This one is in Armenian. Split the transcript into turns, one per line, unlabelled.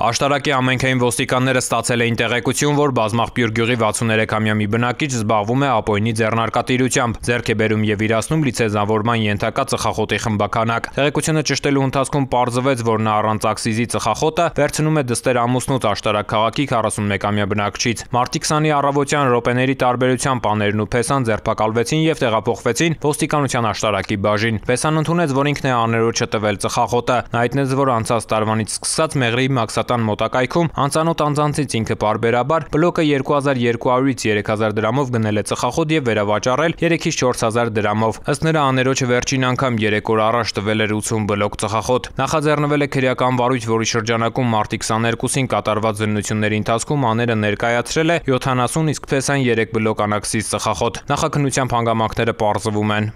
Աշտարակի ամենքային ոստիկանները ստացել էին տեղեկություն, որ բազմաղբյուր գյուղի 63-ամյա մի բնակիչ զբաղվում է ապօրինի ձեռնարկատիրությամբ, ձեռք է բերում եւ իրացնում լիցենզավորման ենթակա ծխախոտի խմբականակ։ Տեղեկությունը ճշտելու ընթացքում պարզվեց, որ նա առանց աքսիզի ծխախոտը վերցնում է դստեր ամուսնուց Աշտարակ քաղաքի 41-ամյա բնակչից։ Մարտի 20-ի առավոտյան րոպեների տարբերությամբ աներն ու Փեսան ձերբակալվեցին եւ տեղափոխվեցին ոստիկանության Աշտարակի բաժին։ Փեսան ընդունեց, որ ինքն է աներոջը տվել ծխախոտը։ Նա հայտնեց, որ անցած տարվանից սկսած Մեղրի Մաքսատան մոտակայքում անծանոթ անձանցից ինքը պարբերաբար բլոկը 2200-ից 3000 դրամով գնել է ծխախոտ եւ վերավաճառել 3-ից 4000 դրամով։ Ըստ նրա աներոջը վերջին անգամ 3 օր առաջ տվել էր 80 բլոկ ծխախոտ։ Նախաձեռնվել է քրեական վարույթ, որի շրջանակում մարտի 22-ին կատարված զննությունների ընթացքում աները ներկայացրել է 70, իսկ Փեսան 3 բլոկ անաքսիզ ծխախոտ։ Նախաքննությամբ հանգամանքները պարզվում են։